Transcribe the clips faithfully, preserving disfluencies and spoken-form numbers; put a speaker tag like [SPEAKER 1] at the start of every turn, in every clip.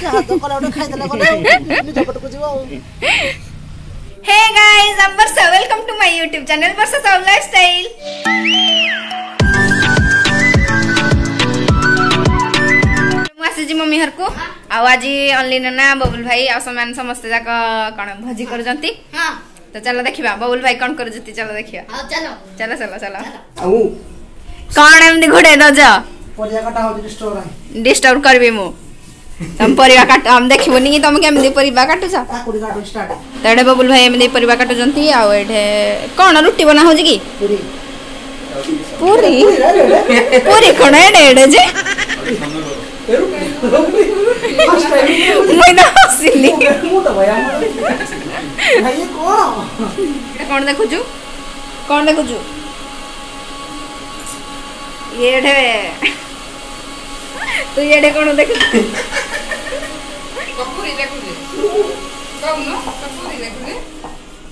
[SPEAKER 1] ଯାହା ତ କଲା ଗୋଟେ ଖାଇଦେଲା ଗଲେ ନିଜ ପଟକୁ ଯିବ ଆଉ।
[SPEAKER 2] Hey guys, I'm Varsha. Welcome to my YouTube channel Varsha Sahu Lifestyle. ମୁଁ ଆସିଛି ମମି ଘରକୁ ଆଉ ଆଜି ଅନଲି ନନା, ବବୁଲ ଭାଇ ଆଉ ସେମାନେ ସମସ୍ତେ ଯାକ କଣ ଭୋଜି କରୁଛନ୍ତି। ତ ଚାଲ ଦେଖିବା ବବୁଲ ଭାଇ କଣ କରୁଛନ୍ତି, ଚାଲ ଦେଖିବା।
[SPEAKER 3] ଚାଲ
[SPEAKER 2] ଚାଲ ଚାଲ ଚାଲ।
[SPEAKER 1] ଆଉ
[SPEAKER 2] କଣ ଏମିତି ଘୋଡେଇ ଦଉଛ?
[SPEAKER 1] ପରିବା କଟା ହଉଛି, ଡିଷ୍ଟର୍ବ ନାହିଁ।
[SPEAKER 2] ଡିଷ୍ଟର୍ବ କରିବି ମୁଁ। ତମ ପରିବା କାଟ, ଆମେ ଦେଖିବୁନି କି ତମେ କେମିତି ପରିବା କାଟୁଛ।
[SPEAKER 1] କାକୁଡି କାଟୁ ଷ୍ଟାର୍ଟ।
[SPEAKER 2] ତ ଏଠି ବବୁଲ ଭାଇ ଏମିତି ପରିବା କାଟୁଛନ୍ତି। ଆଉ ଏଠି କଣ ରୁଟି ବନା ହଉଛି କି?
[SPEAKER 1] ପୁରୀ।
[SPEAKER 2] ପୁରୀ ପୁରୀ କଣ ଏଡେ ଏଡେ ଯେ ମୁଇଁ ତ ହସିଲି।
[SPEAKER 1] ମୁଁ ତ ଭାଇ ଆମର ଭାଇ କଣ
[SPEAKER 2] କଣ ଦେଖୁଛୁ? କଣ ଦେଖୁଛୁ? ଏଠେ ତୁ ଏଠେ କଣ ଦେଖୁଛୁ?
[SPEAKER 4] କପୁରୀ ଦେଖୁଛି, କହୁନୁ, କପୁରୀ ଦେଖୁଛି।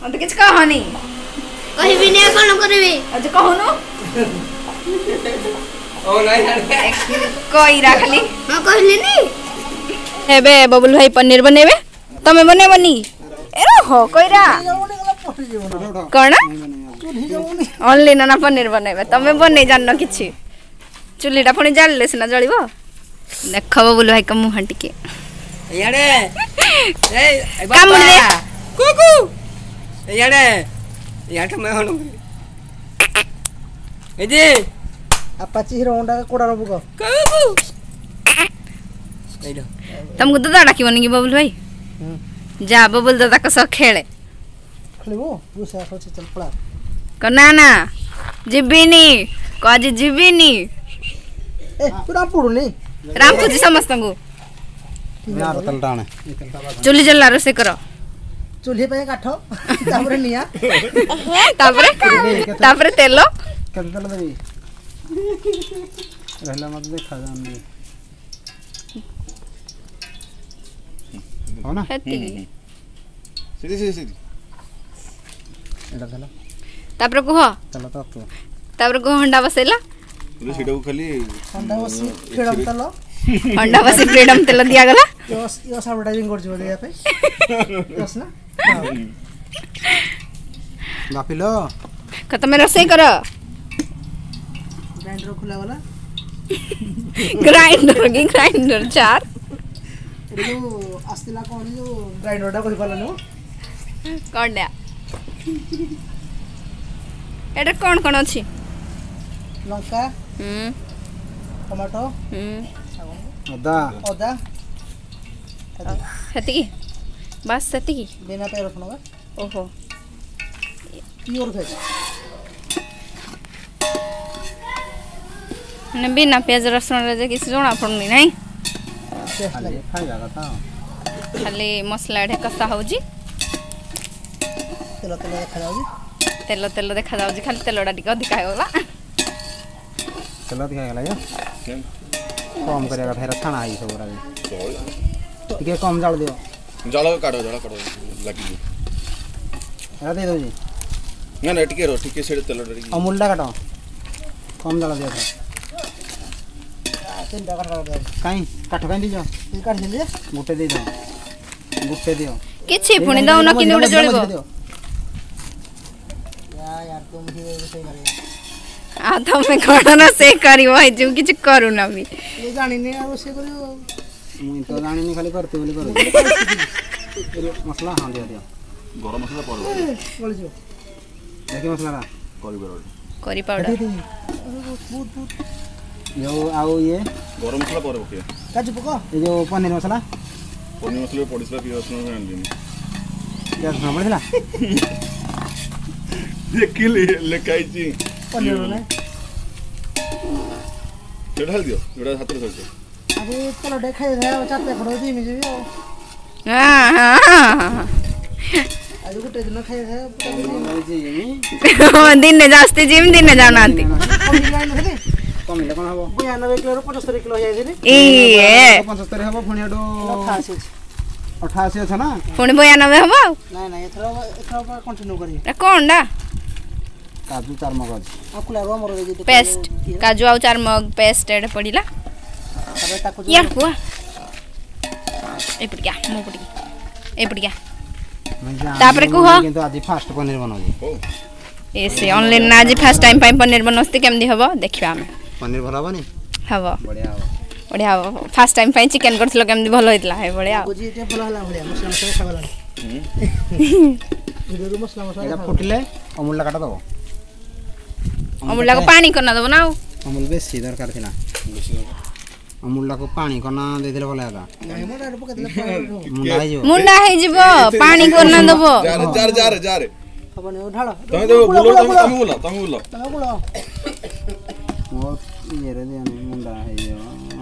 [SPEAKER 2] ମତେ କିଛି କହନି।
[SPEAKER 3] କହିବିନି ଆଉ କଣ କରିବି?
[SPEAKER 2] ଆଜି କହୁନୁ କଇରା ଖାଲି।
[SPEAKER 3] ହଁ, କହିଲିନି।
[SPEAKER 2] ଏବେ ବବୁଲ ଭାଇ ପନିର ବନେଇବେ, ତମେ ବନେଇବନି? ଏ ରହ କଇରା। କଣ ଅନଲି ନା ପନିର ବନେଇବେ, ତମେ ବନେଇ ଜାଣିନ କିଛି। ଚୁଲିଟା ପୁଣି ଜାଳିଲେ ସିନା ଜଳିବ। ଦେଖ ବବୁଲ ଭାଇଙ୍କ ମୁହଁ ଟିକେ
[SPEAKER 4] ଇଆଡ଼େ
[SPEAKER 2] କାମୁଡ଼ି ଦେ।
[SPEAKER 4] କୁକୁ ଇଆଡ଼େ ଇଆଡ଼େ ମେ ହନୁ ଏ ଯେ
[SPEAKER 1] ଆପାଚି ହିରୋ ହୋଣ୍ଡା କୋଡା ରବୁ କ
[SPEAKER 4] କୁକୁ ଏଇଟା।
[SPEAKER 2] ତମକୁ ଦାଦା ଡାକିବନି କି ବବୁଲ ଭାଇ? ଯା ବବୁଲ ଦାଦାଙ୍କ ସହ ଖେଳେ।
[SPEAKER 1] ଖେଳିବୁ? ରୋଷେଇ ଅଛି, ଚାଲ ପଳା।
[SPEAKER 2] କ ନା ନା ଯିବିନି, କ ଆଜି ଯିବିନି।
[SPEAKER 1] ଏ ତୁ ରାମ୍ପୁଡୁନି?
[SPEAKER 2] ରାମ୍ପୁଛି ସମସ୍ତଙ୍କୁ। ଚୁଲି ଜଲା, ରୋଷେଇ କର।
[SPEAKER 1] ଚୁଲି ପାଇଁ କାଠ, ତାପରେ ନିଆଁ,
[SPEAKER 2] ତାପରେ ତାପରେ ତେଲ।
[SPEAKER 5] କେତେ ତେଲ ଦେବି ରହିଲା ମତେ ଦେଖାଯାଉନି। ହବ ନା
[SPEAKER 2] ସେତିକି?
[SPEAKER 6] ସେଠି ସେଠି ସେଠି
[SPEAKER 5] ଏଇଟା ତେଲ।
[SPEAKER 2] ତାପରେ କୁହ
[SPEAKER 5] ତେଲ ତ
[SPEAKER 2] ତାପରେ କୁହ, ହଣ୍ଡା ବସେଇଲା।
[SPEAKER 6] ସେଇଟାକୁ ଖାଲି
[SPEAKER 1] ହଣ୍ଡା ବସି ଫ୍ରିଡମ ତେଲ,
[SPEAKER 2] ହଣ୍ଡା ବସି ଫ୍ରିଡମ ତେଲ ଦିଆଗଲା।
[SPEAKER 1] ୟସ୍ ୟସ୍ ଆଡଭର୍ଟାଇଜିଂ କରୁଛି ବୋଧେ ୟା ପାଇଁ। ୟସ୍ ନା
[SPEAKER 5] ବାପିଲ
[SPEAKER 2] ତମେ ରୋଷେଇ କର।
[SPEAKER 1] ଗ୍ରାଇଣ୍ଡର ଖୋଲା ଗଲା।
[SPEAKER 2] ଗ୍ରାଇଣ୍ଡର କି ଗ୍ରାଇଣ୍ଡର ଚାର
[SPEAKER 1] ଏଟା ଯୋଉ ଆସିଥିଲା କଣ ଯୋଉ ଗ୍ରାଇଣ୍ଡରଟା କହିପାରିଲାନି ମୁଁ।
[SPEAKER 2] କଣଟା ଏଟା? କଣ କଣ ଅଛି?
[SPEAKER 1] ଲଙ୍କା,
[SPEAKER 2] ହୁଁ,
[SPEAKER 1] ଟମାଟୋ,
[SPEAKER 2] ହୁଁ,
[SPEAKER 5] ଅଦା।
[SPEAKER 1] ଅଦା।
[SPEAKER 2] ସେତିକି ବାସ୍, ସେତିକି।
[SPEAKER 1] ବିନା ପିଆଜ ରସୁଣ ବା।
[SPEAKER 2] ଓହୋ,
[SPEAKER 1] ପିଓର ଭେଜ।
[SPEAKER 2] ମାନେ ବିନା ପିଆଜ ରସୁଣରେ ଯେ କିଛି ଜଣା ପଡୁନି ନାଇଁ?
[SPEAKER 1] ଟେଷ୍ଟ ଲାଗେ।
[SPEAKER 5] ଖାଇବା କଥା ଆଉ।
[SPEAKER 2] ଖାଲି ମସଲା ଏଠି କଷା ହଉଛି।
[SPEAKER 1] ତେଲ ତେଲ ଦେଖାଯାଉଛି।
[SPEAKER 2] ତେଲ ତେଲ ଦେଖାଯାଉଛି, ଖାଲି ତେଲଟା ଟିକେ ଅଧିକା ହେଇଗଲା।
[SPEAKER 5] ତେଲ ଅଧିକା ହେଇଗଲା କି କମ୍ କରିବା କଥା? ଏରା ଛାଣା ହେଇଛି ସବୁ ଗୁଡ଼ା। ଟିକେ କମ୍ ଜାଳ ଦିଅ।
[SPEAKER 6] ଜଳ କାଢ, ଜଳ କାଢ, ଲାଗିଯିବ।
[SPEAKER 5] ଏରା ଦେଇ ଦଉଛି।
[SPEAKER 6] ନା ନା, ଟିକେ ରହ ଟିକେ, ସେଇଟା ତେଲଟା ଟିକେ।
[SPEAKER 5] ଅମୁଲଟା କାଟ, କମ୍ ଜାଳ ଦିଅ।
[SPEAKER 1] ତିନିଟା କାଠ କାଟ।
[SPEAKER 5] କାଇଁ କାଠ କାଇଁ ଦେଇଛ?
[SPEAKER 1] କାଟିଥିଲି।
[SPEAKER 5] ଗୋଟେ ଦେଇଦିଅ, ଗୋଟେ ଦିଅ।
[SPEAKER 2] କିଛି ପୁଣି ଦଉନ, କେମିତି ଗୋଟେ ଜଳିବ?
[SPEAKER 5] ଦିଅ।
[SPEAKER 1] ୟାର ତୁମ ହିଁ ରୋଷେଇ କରିବ।
[SPEAKER 2] ଆଉ ତମେ କଣ ରୋଷେଇ କରିବ? ହେଇଯିବ କିଛି କରୁନ ବି।
[SPEAKER 1] ମୁଁ ଜାଣିନି ଆଉ ରୋଷେଇ କରିବ।
[SPEAKER 5] ମୁଁ ତ ଜାଣିନି, ଖାଲି କରିତେ ବୋଲି କରୁଛି। ମସଲା ହଁ ଦିଅ ଦିଅ।
[SPEAKER 6] ଗରମ ମସଲା ପରେ
[SPEAKER 1] ଗଳିଯିବ।
[SPEAKER 5] ଦେଖି ମସଲାଟା
[SPEAKER 6] କରି ପାଉଡର।
[SPEAKER 2] କରି ପାଉଡର।
[SPEAKER 1] ବହୁତ ବହୁତ
[SPEAKER 5] ଯୋଉ ଆଉ ଇଏ
[SPEAKER 6] ଗରମ ମସଲା ପରେ ପକେଇବା।
[SPEAKER 1] କାଜୁ ପକ।
[SPEAKER 5] ଏ ଯୋଉ ପନିର ମସଲା।
[SPEAKER 6] ପନିର ମସଲା ପଡ଼ିଥିଲା, ପିଆଜ ରସୁଣ ଆଣିଲିନି।
[SPEAKER 5] ପିଆଜ ରସୁଣ ପଡ଼ିଥିଲା?
[SPEAKER 6] ଦେଖିଲି ଲେଖା ହେଇଛି।
[SPEAKER 1] ପନିର ନାଇଁ।
[SPEAKER 6] ସେଇଟା ଢାଳି ଦିଅ, ଯୋଉଟା ହାତରେ ଧରିଛ।
[SPEAKER 1] ଆଜି ତେଲ ଟିକେ ଖାଇଦେଲେ ଆଉ ଚାରି ପ୍ୟାକେଟ ଜିମି ଯିବି ଆଉ।
[SPEAKER 2] ହଁ ହଁ,
[SPEAKER 1] ଆଜି ଗୋଟେ ଦିନ ଖାଇଦେଲେ।
[SPEAKER 2] ଦିନେ ଯାଉଛନ୍ତି ଜିମ୍, ଦିନେ ଯାଉନାହାନ୍ତି।
[SPEAKER 1] କମିଲାଣି।
[SPEAKER 5] କମିଲେ କଣ ହବ?
[SPEAKER 1] ବୟାନବେ କିଲୋରୁ ପଞ୍ଚସ୍ତରୀ କିଲୋ ହେଇଯାଇଥିଲି।
[SPEAKER 2] ଇଏ
[SPEAKER 5] ପଞ୍ଚସ୍ତରୀ ହବ, ପୁଣି ଏଠୁ
[SPEAKER 1] ଅଠାଅଶୀ ଅଛି।
[SPEAKER 5] ଅଠାଅଶୀ ଅଛ ନା?
[SPEAKER 2] ପୁଣି ବୟାନବେ ହବ ଆଉ।
[SPEAKER 1] ନାଇଁ ନାଇଁ, ଏଥର ଏଥର କଣ୍ଟିନ୍ୟୁ କରିବି।
[SPEAKER 2] ଏଟା କଣଟା?
[SPEAKER 5] କାଜୁ ଚାରମଗଜ
[SPEAKER 1] ଆଉ କୁଲାରୁ ଆମର
[SPEAKER 2] ପେଷ୍ଟ। କାଜୁ ଆଉ ଚାରମଗ ପେଷ୍ଟ ଏଟା ପଡ଼ିଲା।
[SPEAKER 1] ତାପରେ ତାକୁ
[SPEAKER 2] ଇଆଡ଼କୁ ଆ। ଏପଟିକା ମୋ ପଟିକି ଏପଟିକା ତାପରେ କୁହ
[SPEAKER 5] କିନ୍ତୁ ଆଜି ଫାଷ୍ଟ ପନିର ବନାଉଛି
[SPEAKER 2] ଏ ସେ ଅନଲାଇନ୍ ନା ଆଜି ଫାଷ୍ଟ ଟାଇମ୍ ପାଇଁ ପନିର ବନାଉଛି କେମିତି ହବ ଦେଖିବା ଆମେ
[SPEAKER 5] ପନିର ଭଲ ହବନି
[SPEAKER 2] ହବ
[SPEAKER 5] ବଢିଆ ହବ
[SPEAKER 2] ବଢିଆ ହବ ଫାଷ୍ଟ ଟାଇମ୍ ପାଇଁ ଚିକେନ କରିଥିଲ କେମିତି ଭଲ ହେଇଥିଲା ଏ ଭଳିଆ
[SPEAKER 1] ବୁଝି ଟିକେ ଭଲ ହେଲା ଭଳିଆ ମସଲା ମସଲା ଖାଇଗଲାଣି ଭିଡ଼ିଓରୁ ମସଲା ମସଲା
[SPEAKER 5] ଏଇଟା ଫୁଟିଲେ ଅମୁଲଟା କାଟ ଦବ
[SPEAKER 2] ଅମୁଲଟାକୁ ପାଣି କରିନା ଦବ ନା ଆଉ
[SPEAKER 5] ଅମୁଲ ବେଶୀ ଦରକାର ଥିଲା ଅମୁଲଟାକୁ ପାଣି କନା ଦେଇଦେଲେ ଭଲ ହେଲା
[SPEAKER 1] ନାଇଁ ମୁଁ ଡାଇରେକ୍ଟ ପକେଇଦେଲେ
[SPEAKER 5] ମୁଣ୍ଡା ହେଇଯିବ
[SPEAKER 2] ମୁଣ୍ଡା ହେଇଯିବ ପାଣି କରିନା ଦବ
[SPEAKER 6] ଯାରେ ଯାରେ ଯାରେ ଯାରେ
[SPEAKER 1] ହବନି ଢାଳ
[SPEAKER 6] ତମେ ତ ବୁଲ ତମେ ତମେ ବୁଲ ତମେ ବୁଲ
[SPEAKER 1] ତମେ ବୁଲ
[SPEAKER 5] ମୋ ଇଏରେ ଦିଅନି ମୁଣ୍ଡା ହେଇଯିବ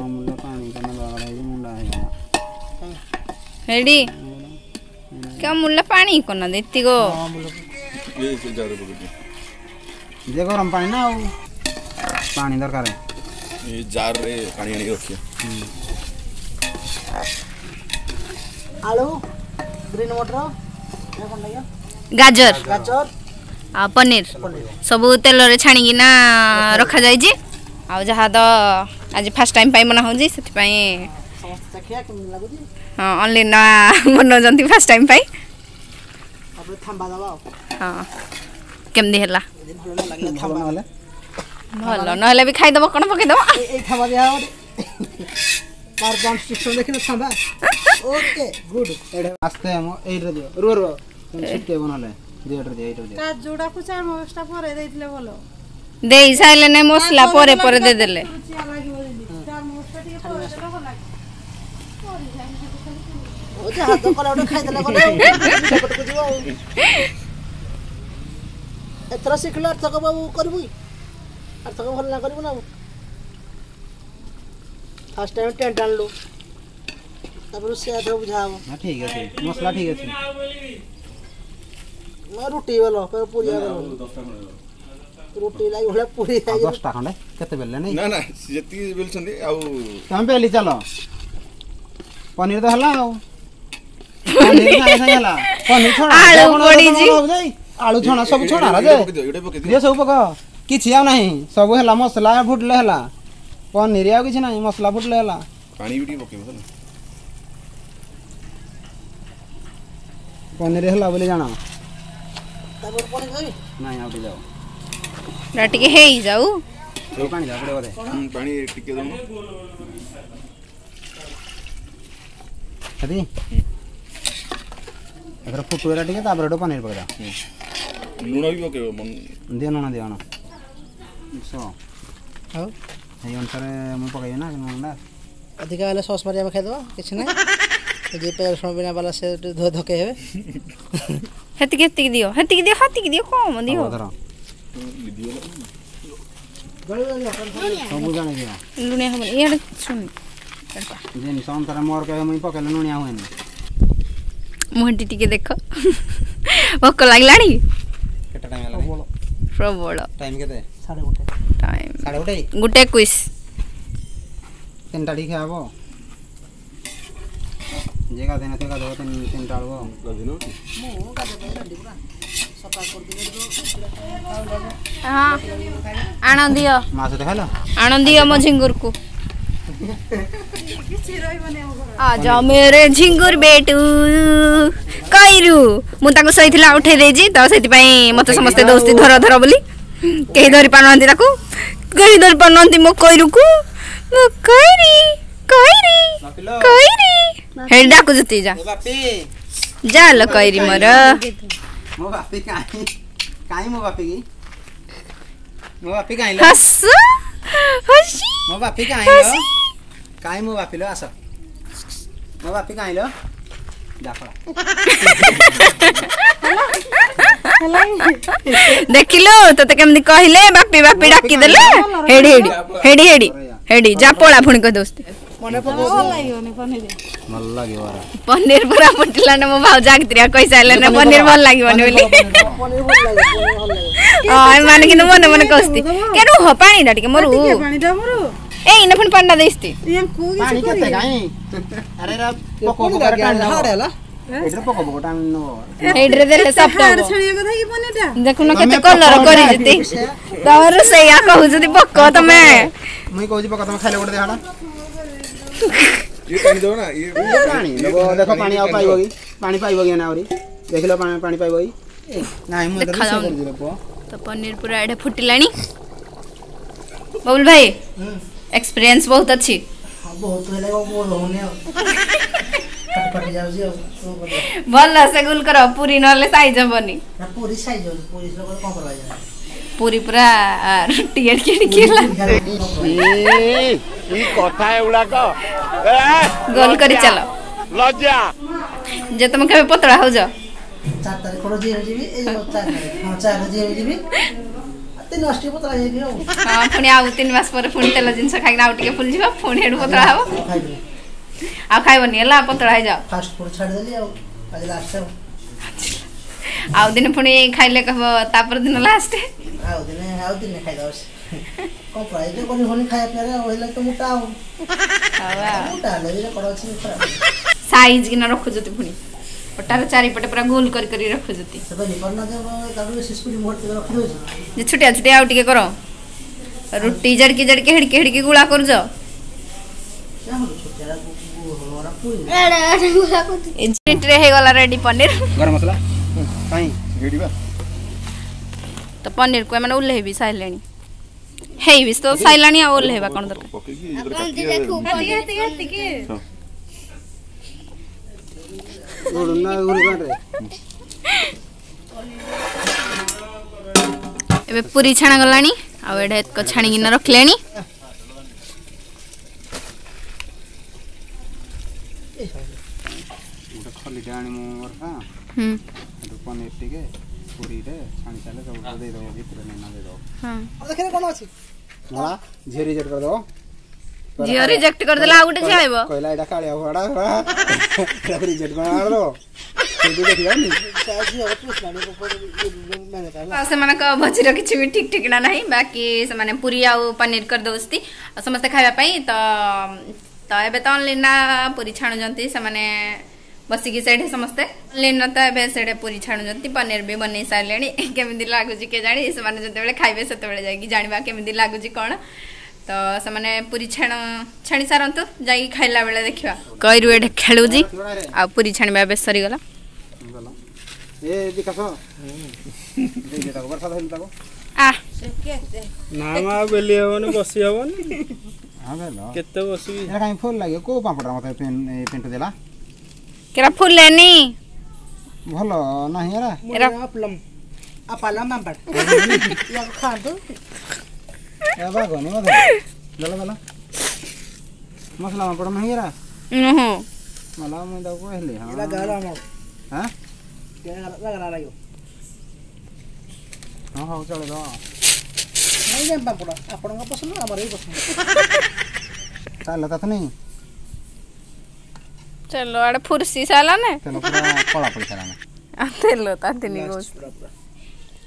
[SPEAKER 5] ଅମୁଲ ପାଣି କନା ଦରକାର ହେଇଛି ମୁଣ୍ଡା ହେଇଗଲା
[SPEAKER 2] ରେଡି କି ଅମୁଲଟା ପାଣି କରିନା ଦେ ଏତିକ
[SPEAKER 6] ଏ ସେ ଯାରେ ପକେଇ
[SPEAKER 5] ଦିଅ ଗରମ ପାଣି ନା ଆଉ ପାଣି ଦରକାର
[SPEAKER 6] ଏ ଜାରରେ ପାଣି ଆଣିକି ରଖିବା
[SPEAKER 1] ଆଳୁ ଗ୍ରୀନ୍ ମଟର ଏ କଣ ଲାଗିବ
[SPEAKER 2] ଗାଜର
[SPEAKER 1] ଗାଜର
[SPEAKER 2] ଆଉ ପନିର ସବୁ ତେଲରେ ଛାଣିକିନା ରଖାଯାଇଛି ଆଉ ଯାହା ତ ଆଜି ଫାଷ୍ଟ ଟାଇମ୍ ପାଇଁ ବନା ହେଉଛି ସେଥିପାଇଁ
[SPEAKER 1] ସମସ୍ତେ ଚାଖିଆ କେମିତି ଲାଗୁଛି
[SPEAKER 2] ହଁ ଅନଲାଇନ୍ ବନାଉଛନ୍ତି ଫାଷ୍ଟ ଟାଇମ୍ ପାଇଁ
[SPEAKER 1] ତାପରେ ଥାମ୍ବା ଦବା ଆଉ
[SPEAKER 2] ହଁ କେମିତି ହେଲା
[SPEAKER 1] ଯଦି ଭଲ ନ ଲାଗିଲା
[SPEAKER 5] ଭଲ
[SPEAKER 1] ଥାମ୍ବା
[SPEAKER 5] ନହେଲେ
[SPEAKER 2] ଭଲ ନହେଲେ ବି ଖାଇଦବ କ'ଣ ପକେଇଦବ
[SPEAKER 1] ଏଇ ଏଇ ଥାମ୍ବା ଦିଆ ହବ ପାୱାର ପଏଣ୍ଟ ସିଷ୍ଟମ ଦେଖିଲ ଥାମ୍ବା ଓକେ ଗୁଡ୍
[SPEAKER 5] ଏଇଟା ଆସ୍ତେ ଆମ ଏଇଟା ଦିଅ ରୁହ ରୁହ ତମେ ଛିଟକେଇବ ନହେଲେ ଦିଅ ଏଇଟା ଦିଅ ଏଇଟା ଦିଅ
[SPEAKER 4] କାଜୁଟାକୁ ଚାରମଗଜଟା ପରେ ଦେଇଥିଲେ ଭଲ
[SPEAKER 2] ଦେଇ ସାରିଲେ ନାଇଁ ମସଲା ପରେ ପରେ ଦେଇଦେଲେ
[SPEAKER 4] ରୁଚିଆ ଲାଗିବ ଯେମିତି ଚାରମଗଜଟା ଟିକେ ପରେ ଦେଲେ ଭଲ ଲାଗିବ
[SPEAKER 1] ଓ ଯାହା ତ କଲା ଗୋଟେ ଖାଇଦେଲେ ଗଲେ ଆଉ ପଟକୁ ଯିବ ଆଉ ଏଥର ଶିଖିଲୁ ଆରଥକ ବାବୁ କରିବୁ କି ଆରଥକ ଭଲ ନା କରିବୁ ନା ଆଉ ଫାର୍ଷ୍ଟ ଟାଇମ୍ ଟେଣ୍ଟ ଆଣିଲୁ ତାପରେ ସେ ଏଥର ବୁଝା ହବ
[SPEAKER 5] ନା ଠିକ ଅଛି ମସଲା ଠିକ ଅଛି
[SPEAKER 1] ନା ରୁଟି ବେଲ ପୁରୀ ବେଲ ରୁଟି ଲାଗି ଭଳିଆ ପୁରୀ
[SPEAKER 5] ଆଉ ଦଶଟା ଖଣ୍ଡେ କେତେ ବେଲେ ନାଇଁ
[SPEAKER 6] ନା ନା ଯେତିକି ବେଲୁଛନ୍ତି ଆଉ
[SPEAKER 5] ତମେ ବେଲି ଚାଲ ପନିର ତ ହେଲା ଆଉ ପନିର ସାଙ୍ଗେ ସାଙ୍ଗେ ହେଲା ପନିର ଛଣା
[SPEAKER 2] ଆଳୁ
[SPEAKER 5] କଣ
[SPEAKER 2] ପଡିଛି।
[SPEAKER 5] ଯାଇ ଆଳୁ ଛଣା ସବୁ ଛଣା ରାଜେ
[SPEAKER 6] ଏଇଟା ପକେଇ ଦିଅ ଏଇଟା ପକେଇ ଦିଅ
[SPEAKER 5] ଦିଅ ସବୁ ପକ କିଛି ଆଉ ନାହିଁ ସବୁ ହେଲା ମସଲା ଫୁଟିଲେ ହେଲା ପନିର ଆଉ କିଛି ନାହିଁ ମସଲା ଫୁଟିଲେ ହେଲା
[SPEAKER 6] ପାଣି ବି ଟିକେ ପକେଇବ ହେଲା
[SPEAKER 5] ପନିର ହେଲା ବୋଲି ଜାଣ
[SPEAKER 1] ତାପରେ ପନିର ଖାଇବି
[SPEAKER 5] ନାଇଁ ଆଉ ଟିକେ ଯାଅ
[SPEAKER 2] ଏଟା ଟିକେ ହେଇଯାଉ
[SPEAKER 5] ସବୁ ପାଣି ଦେବା ପଡ଼ିବ ବୋଧେ
[SPEAKER 6] ହୁଁ, ପାଣି ଟିକେ ଦଉନ
[SPEAKER 5] ସେତିକି ଏଥର ଫୁଟୁ ହେଲା ଟିକେ ତାପରେ ଏଠୁ ପନିର ପକେଇଦବା
[SPEAKER 6] ଲୁଣ ବି ପକେଇବ ମନ-
[SPEAKER 5] ଦିଅ ଲୁଣ ଦିଅ ଶ
[SPEAKER 1] ଆଉ
[SPEAKER 5] ସେଇ ଅନୁସାରେ ମୁଁ ପକେଇବି ନା ଲୁଣଟା
[SPEAKER 1] ଅଧିକା ହେଲେ ସସ୍ ମାରି ଆମେ ଖାଇଦେବା କିଛି ନାହିଁ ଯିଏ ପିଆଜ ରସୁଣ ବିନା ବାଲା ସେ ଟିକେ ଧକେଇ ହେବେ
[SPEAKER 2] ହେତିକି ହେତିକି ଦିଅ ହେତିକି ଦିଅ ହେତିକି ଦିଅ କମ ଦିଅ
[SPEAKER 5] ହବ ଧର ସବୁ ଜାଣି ଦିଅ
[SPEAKER 2] ଲୁଣିଆ ହବନି ଇଆଡ଼େ ଶୁଣି
[SPEAKER 5] ଜିନିଷ ଅନୁସାରେ ମୋର କେବେ ମୁଇଁ ପକେଇଲେ ଲୁଣିଆ ହୁଏନି
[SPEAKER 2] ମୁହଁଟି ଟିକେ ଦେଖ ଭୋକ ଲାଗିଲାଣି
[SPEAKER 5] କେତେ ଟାଇମ୍ ହେଲାଣି
[SPEAKER 2] ପ୍ରବଳ
[SPEAKER 5] ଟାଇମ୍ କେତେ
[SPEAKER 1] ସାଢ଼େ ଗୋଟେ
[SPEAKER 2] ଟାଇମ୍
[SPEAKER 5] ସାଢ଼େ ଗୋଟେ
[SPEAKER 2] ଗୋଟେ ଏକୋଇଶ
[SPEAKER 5] ତିନିଟା ଟିକେ ଖିଆ ହବ ଯିଏ ଗାଧେଇ ନଥିବ ଗାଧେଇବ ତିନି ତିନିଟା ବେଳକୁ ଆଉ
[SPEAKER 6] ଗାଧେଇନ କି?
[SPEAKER 1] ମୁଁ ଗାଧେଇ ପାଇଁ ରେଡି ପୁରା ସଫା କରିଦେଲେ
[SPEAKER 2] ହଁ ଆଣ ଦିଅ
[SPEAKER 5] ମା ସହିତ ଖାଇଲ
[SPEAKER 2] ଆଣ ଦିଅ ମୋ ଝିଙ୍ଗୁରକୁ
[SPEAKER 4] କିଛି ରହିବନି ଆମ ଘରେ
[SPEAKER 2] ଆଜା मेरे ଝିଙ୍ଗୁର ବେଟୁ କଇରୁ ମୁଁ ତାକୁ ଶୋଇଥିଲା ଉଠେଇ ଦେଇଛି ତ ସେଥିପାଇଁ ମତେ ସମସ୍ତେ ଦୋସ୍ତି ଧର ଧର ବୋଲି କେହି ଧରି ପାରୁନାହାନ୍ତି ତାକୁ କେହି ଧରି ପାରୁନାହାନ୍ତି ମୋ କଇରୁକୁ ମୋ କଇରି କଇରି କଇରି ହେଇ ଡାକୁଛନ୍ତି ଯା
[SPEAKER 5] ବାପି
[SPEAKER 2] ଯା ଲୋ କଇରି ମୋର
[SPEAKER 5] ମୋ ବାପି କାହିଁ କାହିଁ ମୋ ବାପି କି ମୋ ବାପି କାହିଁ ଲୋ
[SPEAKER 2] ହସ ହସି
[SPEAKER 5] ମୋ ବାପି କାହିଁ ଲୋ କାହିଁ ମୋ ବାପି ଲୋ ଆସ ମୋ ବାପି କାହିଁ ଲୋ ଯା ପଳା
[SPEAKER 2] ଦେଖିଲୁ ତତେ କେମିତି କହିଲେ ବାପି ବାପି ଡାକିଦେଲେ ହେଡି ହେଡି ହେଡି ହେଡି ହେଡି ଯା ପଳା ପୁଣି କହିଦଉଛନ୍ତି
[SPEAKER 1] ମନେ
[SPEAKER 4] ଭଲ ଲାଗିବନି ପନିର
[SPEAKER 5] ଭଲ ଲାଗିବ ଆରା।
[SPEAKER 2] ପନିର ପୁରା ଫୁଟିଲା ନା ମୋ ଭାଉଜ ଆଗତିରିଆ କହିସାରିଲେ ନା ପନିର ଭଲ ଲାଗିବନି ବୋଲି
[SPEAKER 1] ପନିର ଭଲ ଲାଗେ ପନିର ଭଲ ଲାଗେ
[SPEAKER 2] ହଁ ଏମାନେ କିନ୍ତୁ ମନେ ମନେ କହୁଛନ୍ତି କେ ରୁହ ପାଣିଟା ଟିକେ ମରୁ
[SPEAKER 4] ଟିକେ ପାଣିଟା ମୋର
[SPEAKER 2] ଏଇ ନା ପୁଣି ପାଣିଟା ଦେଇଛି
[SPEAKER 4] ୟାଙ୍କୁ
[SPEAKER 5] ପାଣି
[SPEAKER 4] କିଛି
[SPEAKER 5] କେତେ
[SPEAKER 4] କରିବେ
[SPEAKER 5] କାହିଁ ଆରେ ଏରା ପୋକ ପୋକ ଟାଣି ନବ
[SPEAKER 1] ହାର୍ଡ ହେଲା
[SPEAKER 5] ଏଇଥିରେ ପୋକ ପୋକ ଟାଣି ନବ
[SPEAKER 2] ଏଇଥିରେ ଦେଲେ ସଫ୍ଟ
[SPEAKER 4] ହାଡ଼
[SPEAKER 2] ହବ
[SPEAKER 4] ଛାଣିବା କଥା କି ପନିରଟା
[SPEAKER 2] ଦେଖୁନ କେତେ କଲର କରିଛନ୍ତି ତମର ସେଇଆ କହୁଛନ୍ତି ପୋକ ତମେ
[SPEAKER 5] ମୁଇଁ କହୁଛି ପୋକ ତମେ ଖାଇଲେ ଗୋଟେ ଦେହଟା
[SPEAKER 6] ଇଏ ଟାଣି ଦବ ନା ଇଏ
[SPEAKER 5] ପାଣି ଦେଖ ପାଣି ଆଉ ପାଇବ କି ପାଣି ପାଇବ କି ନା ଆହୁରି ଦେଖିଲ ପାଣି ପାଣି ପାଇବ କି ନାଇଁ ମୁଁ
[SPEAKER 2] ଦେଖାଯାଉନି ତ ପନିର ପୁରା ଏଇଟା ଫୁଟିଲାଣି ବବୁଲ ଭାଇ ଏକ୍ସପିରିଏନ୍ସ ବହୁତ ଅଛି
[SPEAKER 1] ବହୁତ ହେଲେ ମୋର ରହୁନି ଆଉ ଫାଟି ଫାଟି ଯାଉଛି ଆଉ କଣ କରିବା
[SPEAKER 2] ଭଲ ସେ ଗୁଲ କର ପୁରୀ ନହେଲେ ସାଇଜ ହବନି
[SPEAKER 1] ନା ପୁରୀ ସାଇଜ ହଉଛି ପୁରୀ କଣ କରାଯାଏ
[SPEAKER 2] ପୁରୀ ପୁରା ରୁଟି ଏଡ଼ିକି ଏଡ଼ିକି ହେଲା
[SPEAKER 7] କି କଥା ଏଗୁଡାକ
[SPEAKER 2] ଗୋଲ କରି ଚାଲ
[SPEAKER 7] ଲଜ୍ଜା
[SPEAKER 2] ଯେ ତମେ କେବେ ପତଳା ହଉଛ
[SPEAKER 1] ଚାରି ତାରିଖ ଜିମ୍ ଯିବି ଏଇ ଚାରି ତାରିଖ ହଁ ଚାରି ଜିମ୍ ଯିବି ତିନି ମାସ ଟିକେ ପତଳା ହେଇଯିବି ଆଉ
[SPEAKER 2] ହଁ ପୁଣି ଆଉ ତିନି ମାସ ପରେ ପୁଣି ତେଲ ଜିନିଷ ଖାଇକିନା ଆଉ ଟିକେ ଫୁଲିଯିବ ପୁଣି ଏଠୁ ପତଳା ହବ
[SPEAKER 1] ଖାଇବି
[SPEAKER 2] ଆଉ ଖାଇବନି ହେଲା ପତଳା ହେଇଯାଅ
[SPEAKER 1] ଫାଷ୍ଟ ଫୁଡ ଛାଡ଼ିଦେଲି ଆଉ ଆଜି ଲାଷ୍ଟ ଆଉ
[SPEAKER 2] ଆଉ ଦିନେ ପୁଣି ଖାଇଲେ କହିବ ତାପର ଦିନ ଲାଷ୍ଟ
[SPEAKER 1] ଆଉ ଦିନେ ଆଉ ଦିନେ ଖାଇଦବା କମ୍ପ୍ରାଇଜ କରି ହଉନି ଖାଇବା ପିଇବାରେ ଆଉ ହେଲେ ତ ମୋଟା ଆଉ ମୋଟା ହେଲେ ବି କଣ ଅଛି ଖରାପ
[SPEAKER 2] ସାଇଜ କିନା ରଖୁଛନ୍ତି ପୁଣି ଅଟାର ଚାରିପଟେ ପୁରା ଗୋଲ କରି କରି ରଖୁଛନ୍ତି
[SPEAKER 1] ସେ ବେଲି ପାରୁନା ଯେ ତାକୁ ଶିଶୁଟି ମୋଟ ରଖିଦଉଛି
[SPEAKER 2] ଯେ ଛୋଟିଆ ଛୋଟିଆ ଆଉ ଟିକେ କର ରୁଟି ଜଡ଼କି ଜଡ଼କି ହେଡ଼କି ହେଡ଼କି ଗୁଳା କରୁଛ ମିନିଟ୍ରେ ହେଇଗଲା ରେଡି ପନିର
[SPEAKER 5] ଗରମ ମସଲା କାଇଁ
[SPEAKER 6] ଗିଡ଼ିବା
[SPEAKER 2] ତ ପନିରକୁ ଏମାନେ ଓହ୍ଲେଇ ବି ସାରିଲେଣି ହେଇ ବି ତ ସାରିଲାଣି ଆଉ ଓହ୍ଲେଇବା କ'ଣ ଦରକାର
[SPEAKER 6] ପକେଇକି
[SPEAKER 5] ନା ଗୁଡ଼ି କାଣ୍ଟରେ
[SPEAKER 2] ଏବେ ପୁରୀ ଛାଣା ଗଲାଣି ଆଉ ଏଇଟା ଏତକ ଛାଣିକିନା ରଖିଲେଣି
[SPEAKER 5] ଗୋଟେ ଖଲିଟେ ଆଣିବୁ ବର୍ଷା
[SPEAKER 2] ହୁଁ
[SPEAKER 5] ସେଠୁ ପନିର ଟିକେ ପୁରୀରେ ଛାଣି ସାରିଲେ ସବୁ ଦେଇଦେବ ଭିତରେ ନେନା ଦେଇଦେବ
[SPEAKER 2] ହଁ
[SPEAKER 1] ଦେଖିଲେ କଣ ଅଛି
[SPEAKER 5] ମଳା ଝିଅ ରିଜେକ୍ଟ କରିଦେବ
[SPEAKER 2] ଝିଅ ରିଜେକ୍ଟ କରିଦେଲା ଆଉ ଗୋଟେ ଝିଅ ଆଇବ
[SPEAKER 5] କହିଲା ଏଇଟା କାଳିଆ ଭଡ଼ା ଏଟାକୁ ରିଜେକ୍ଟ କଣ କରିଦେବ ସେଇଠୁ ଦେଖିବାନି
[SPEAKER 2] ଆଉ ସେମାନଙ୍କ ଭୋଜିର କିଛି ବି ଠିକ୍ ଠିକଣା ନାହିଁ ବାକି ସେମାନେ ପୁରୀ ଆଉ ପନିର କରିଦେଉଛନ୍ତି ଆଉ ସମସ୍ତେ ଖାଇବା ପାଇଁ ତ ତ ଏବେ ତ ଅନଲିନା ପୁରୀ ଛାଣୁଛନ୍ତି ସେମାନେ ବସିକି ସେଇଠି ସମସ୍ତେ ଅନଲିନା ତ ଏବେ ସେଇଠି ପୁରୀ ଛାଣୁଛନ୍ତି ପନିର ବି ବନେଇ ସାରିଲେଣି କେମିତି ଲାଗୁଛି କେଜାଣି ସେମାନେ ଯେତେବେଳେ ଖାଇବେ ସେତେବେଳେ ଯାଇକି ଜାଣିବା କେମିତି ଲାଗୁଛି କ'ଣ ତ ସେମାନେ ପୁରୀ ଛାଣ ଛାଣି ସାରନ୍ତୁ ଯାଇକି ଖାଇଲା ବେଳେ ଦେଖିବା କଇରୁ ଏଠି ଖେଳୁଛି ଆଉ ପୁରୀ ଛାଣିବା ଏବେ ସରିଗଲା
[SPEAKER 5] ଏ ବିକାଶ ଦେଇଦେ ତାକୁ ବର୍ଷା ଧରିଲୁ ତାକୁ
[SPEAKER 2] ଆ
[SPEAKER 8] ନା ମା ଆଉ ବେଲି ହବନି ବସି ହବନି
[SPEAKER 5] ହଁ ବେଲ
[SPEAKER 8] କେତେ ବସିବି
[SPEAKER 5] ଏଟା କାଇଁ ଫୁଲ ଲାଗିବ କୋଉ ପାମ୍ପଡ଼ଟା ମତେ ପିଣ୍ଟୁ ଦେଲା
[SPEAKER 2] କେରା ଫୁଲେନି
[SPEAKER 5] ଭଲ ନାହିଁ ଏରା
[SPEAKER 2] ଏରା
[SPEAKER 1] ଆପଲମ ଆପାଲମ ପାମ୍ପଡ଼ ୟାକୁ ଖାଆନ୍ତୁ
[SPEAKER 5] ଏ ବାଗନି ବୋଧେ ଦେଲ ଦେଲ ମସଲା ପାମ୍ପଡ଼ ନାହିଁ ଏରା
[SPEAKER 2] ନୁହଁ
[SPEAKER 5] ମଲା ମୁଁ ତାକୁ କହିଲି ହଁ
[SPEAKER 1] ଏଟା ଗରମ
[SPEAKER 5] ହଁ
[SPEAKER 1] ଗଲା ଲାଗିବ
[SPEAKER 5] ହଁ ହଉ ଚଳିବ
[SPEAKER 1] ନାଇଁ ଯେନ୍ ପାମ୍ପଡ଼ ଆପଣଙ୍କ ପସନ୍ଦ ଆମର ବି ପସନ୍ଦ
[SPEAKER 5] ଚାଲ ତାତ ନାଇଁ
[SPEAKER 2] ଚଲୋ ଆଡ଼େ ଫୁର୍ସି ସାରିଲା ନା
[SPEAKER 5] ତେଲ ପୁରା କଳା ପଡ଼ି ସାରିଲାଣି
[SPEAKER 2] ଆଉ ତେଲ ତାତିନି କହୁଛି
[SPEAKER 1] ପୁରା ପୁରା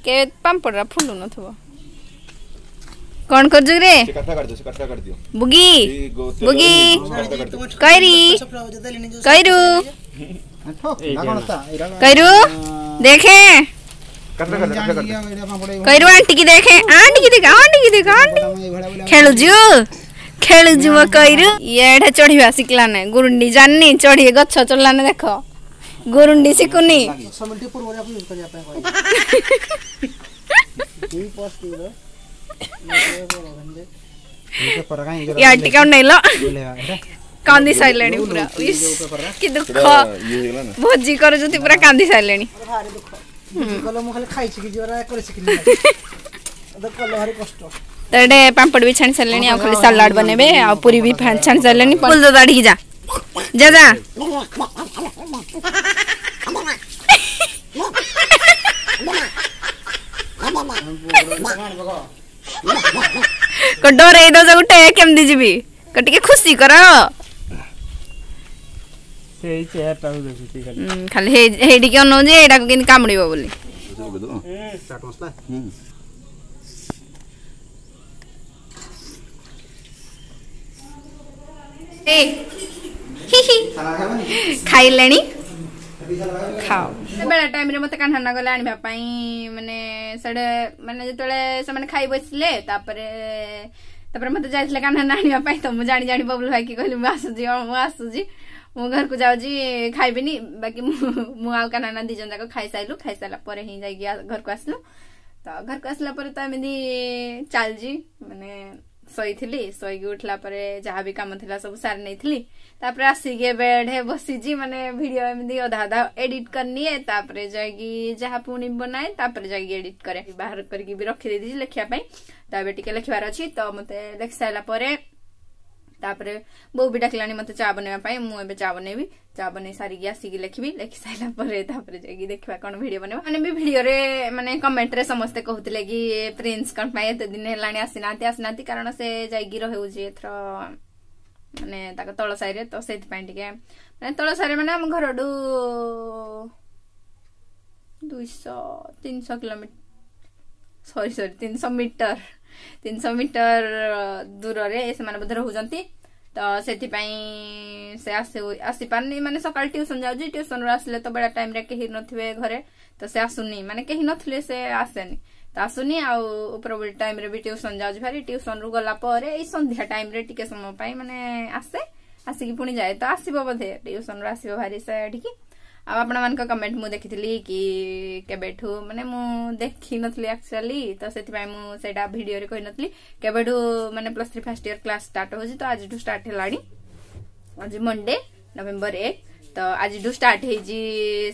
[SPEAKER 2] କେ ପାମ୍ପଡ଼ଟା ଫୁଲୁ ନଥିବ କ'ଣ କରୁଛୁ ରେ
[SPEAKER 6] ସେ କାଠଟା କାଟିଦିଅ ସେ କାଠଟା କାଟିଦିଅ
[SPEAKER 2] ବୁଗି
[SPEAKER 6] ଏଇ ଗୋ- ତେଲ
[SPEAKER 2] ବୁଗି
[SPEAKER 6] କାଠଟା କାଟିଦିଅ
[SPEAKER 2] କଇରି କଇରୁ
[SPEAKER 5] ନା କଣ ତା ଏଇଟା
[SPEAKER 2] କଇରୁ ଦେଖେ
[SPEAKER 6] କାଠଟା କାଟିଦିଅ କାଠଟା କାଟିଦିଅ
[SPEAKER 5] ଏଇଟା ପାମ୍ପଡ଼
[SPEAKER 2] କଇରୁ ଆଣ୍ଟି କି ଦେଖେ ଆଣ୍ଟି କି ଦେଖ ଆଣ୍ଟି କି ଦେଖ ଆଣ୍ଟି
[SPEAKER 5] ଏଇଭଳିଆ ବୋଲି
[SPEAKER 2] ଖେଳୁଛୁ ଖେଳୁଛୁ ମୋ କଇରୁ ଇଏ ଏଠା ଚଢିବା ଶିଖିଲା ନାଇଁ ଗୁରୁଣ୍ଡି ଜାଣିନି ଚଢି ଗଛ ଚଢିଲାନି ଦେଖ ଗୁରୁଣ୍ଡି ଶିଖୁନି
[SPEAKER 1] ଦଶ ମିନିଟ୍ ପୂର୍ବରୁ ଆପଣ ୟୁଜ୍ କରିବା ପାଇଁ କହିବି ଦୁଇ ପସ୍
[SPEAKER 5] ପେପର କାଇଁ
[SPEAKER 2] ୟାର ଟିକେ ଅନେଇଲ
[SPEAKER 5] ଓହ୍ଲେଇବା ଏଇଟା
[SPEAKER 2] କାନ୍ଦି ସାରିଲେଣି ପୁରା ଇସ୍, କି ଦୁଃଖ
[SPEAKER 6] ସେଟା ଇଏ ହେଇଗଲା ନା
[SPEAKER 2] ଭୋଜି କରୁଛନ୍ତି ପୁରା କାନ୍ଦି ସାରିଲେଣି
[SPEAKER 1] ଭାରି ଦୁଃଖ କଲେ ମୁଁ ଖାଲି ଖାଇ ଶିଖିଛି କରି ଶିଖିନି କଲେ ଭାରି କଷ୍ଟ
[SPEAKER 2] ତ ଏଠି ପାମ୍ପଡ଼ ବି ଛାଣି ସାରିଲେଣି ଆଉ ଖାଲି ସାଲାଡ ବନେଇବେ ଆଉ ପୁରୀ ବି ଛାଣି ସାରିଲେଣି ଫୁଲ ଦାଡ଼ିକି ଯା ଯା ଯା ଡରେଇ ଦଉଛ ଗୋଟେ କେମିତି ଯିବି ଟିକେ ଖୁସି କର
[SPEAKER 8] ସେଇ ଚେୟାରଟାକୁ ଦେଖୁଛି ଖାଲି
[SPEAKER 2] ଉଁ, ଖାଲି ହେଇଠିକି ଅନଉଛି ଏଇଟାକୁ କେମିତି କାମୁଡ଼ିବ ବୋଲି
[SPEAKER 6] ପକେଇଦବ
[SPEAKER 5] ଚାଟ ମସଲା
[SPEAKER 6] ହୁଁ
[SPEAKER 2] ଏ ହି ହି
[SPEAKER 5] ସାଲାଡ ଖାଇବନି
[SPEAKER 2] ଖାଇଲେଣି ଖାଅ ବେଳା ଟାଇମ୍ରେ ମୋତେ କାହ୍ନା ଗଲେ ଆଣିବା ପାଇଁ ମାନେ ସେଆଡ଼େ ମାନେ ଯେତେବେଳେ ସେମାନେ ଖାଇ ବସିଲେ ତାପରେ ତାପରେ ମତେ ଯାଇଥିଲେ କାହ୍ନା ଆଣିବା ପାଇଁ, ତ ମୁଁ ଜାଣି ଜାଣି ବବୁଲ ଭାଇକି କହିଲି ମୁଁ ଆସୁଛି, ମୁଁ ଆସୁଛି, ମୁଁ ଘରକୁ ଯାଉଛି ଖାଇବିନି। ବାକି ମୁଁ ମୁଁ ଆଉ କାହ୍ନା ଦି ଜଣ ଯାକ ଖାଇସାରିଲୁ। ଖାଇସାରିଲା ପରେ ହିଁ ଯାଇକି ଘରକୁ ଆସିଲୁ। ତ ଘରକୁ ଆସିଲା ପରେ ତ ଏମିତି ଚାଲିଛି, ମାନେ ଶୋଇଥିଲି, ଶୋଇକି ଉଠିଲା ପରେ ଯାହା ବି କାମ ଥିଲା ସବୁ ସାରି ନେଇଥିଲି। ତାପରେ ଆସିକି ଏବେ ଏଠେ ବସିଛି, ମାନେ ଭିଡିଓ ଏମିତି ଅଧା ଅଧା ଏଡିଟ କରିନିଏ, ତାପରେ ଯାଇକି ଯାହା ପୁଣି ବନାଏ, ତାପରେ ଯାଇକି ଏଡିଟ କରେ। ବାହାର କରିକି ବି ରଖିଦେଇଛି ଲେଖିବା ପାଇଁ, ତ ଏବେ ଟିକେ ଲେଖିବାର ଅଛି। ତ ମତେ ଲେଖି ସାରିଲା ପରେ ତାପରେ ବୋଉ ବି ଡାକିଲାଣି ମତେ ଚା ବନେଇବା ପାଇଁ, ମୁଁ ଏବେ ଚା ବନେଇବି। ଚା ବନେଇ ସାରିକି ଆସିକି ଲେଖିବି। ଲେଖି ସାରିଲା ପରେ ତାପରେ ଯାଇକି ଦେଖିବା କଣ ଭିଡିଓ ବନେଇବା। ମାନେ ବି ଭିଡିଓରେ ମାନେ କମେଣ୍ଟରେ ସମସ୍ତେ କହୁଥିଲେ କି ପ୍ରିନ୍ସ କଣ ପାଇଁ ଏତେ ଦିନ ହେଲାଣି ଆସିନାହାନ୍ତି ଆସିନାହାନ୍ତି, କାରଣ ସେ ଯାଇକି ରହୁଛି ଏଥର ମାନେ ତାଙ୍କ ତଳ ସାହିରେ, ତ ସେଇଥିପାଇଁ ଟିକେ ମାନେ ତଳ ସାହିରେ ମାନେ ଆମ ଘରଠୁ ଦୁଇଶହ ତିନିଶହ କିଲୋମିଟର, ସରି ସରି ତିନିଶହ ମିଟର, ତିନିଶହ ମିଟର ଦୂରରେ ସେମାନେ ବୋଧେ ରହୁଛନ୍ତି। ତ ସେଥିପାଇଁ ସେ ଆସି ଆସିପାରୁନି, ମାନେ ସକାଳେ ଟ୍ୟୁସନ ଯାଉଛି, ଟ୍ୟୁସନରୁ ଆସିଲେ ତ ବେଳା ଟାଇମରେ କେହି ନଥିବେ ଘରେ, ତ ସେ ଆସୁନି, ମାନେ କେହି ନଥିଲେ ସେ ଆସେନି, ତ ଆସୁନି। ଆଉ ଉପରବେଳି ଟାଇମରେ ବି ଟ୍ୟୁସନ ଯାଉଛି ଭାରି, ଟ୍ୟୁସନରୁ ଗଲା ପରେ ଏଇ ସନ୍ଧ୍ୟା ଟାଇମରେ ଟିକେ ସମୟ ପାଇଁ ମାନେ ଆସେ, ଆସିକି ପୁଣି ଯାଏ। ତ ଆସିବ ବୋଧେ ଟ୍ୟୁସନରୁ ଆସିବ ଭାରି ସେ ଏଠିକି। ଆଉ ଆପଣମାନଙ୍କ କମେଣ୍ଟ ମୁଁ ଦେଖିଥିଲି କି କେବେଠୁ, ମାନେ ମୁଁ ଦେଖିନଥିଲି ଆକ୍ଚୁଆଲି, ତ ସେଥିପାଇଁ ମୁଁ ସେଇଟା ଭିଡିଓରେ କହିନଥିଲି କେବେଠୁ ମାନେ plus three first year class start ହଉଛି। ତ ଆଜିଠୁ ଷ୍ଟାର୍ଟ ହେଲାଣି, ଆଜି ମଣ୍ଡେ ନଭେମ୍ବର ଏକ, ତ ଆଜିଠୁ ଷ୍ଟାର୍ଟ ହେଇଛି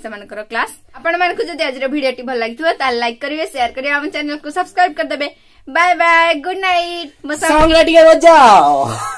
[SPEAKER 2] ସେମାନଙ୍କର କ୍ଲାସ। ଆପଣମାନଙ୍କୁ ଯଦି ଆଜିର ଭିଡିଓଟି ଭଲ ଲାଗିଥିବ ତାହେଲେ ଲାଇକ୍ କରିବେ, ସେୟାର କରିବେ, ଆମ ଚ୍ୟାନେଲକୁ ସବସ୍କ୍ରାଇବ କରିଦେବେ। Bye bye, good night. ମୋ
[SPEAKER 5] ସଙ୍ଗରେ ଟିକେ ବଜାଅ।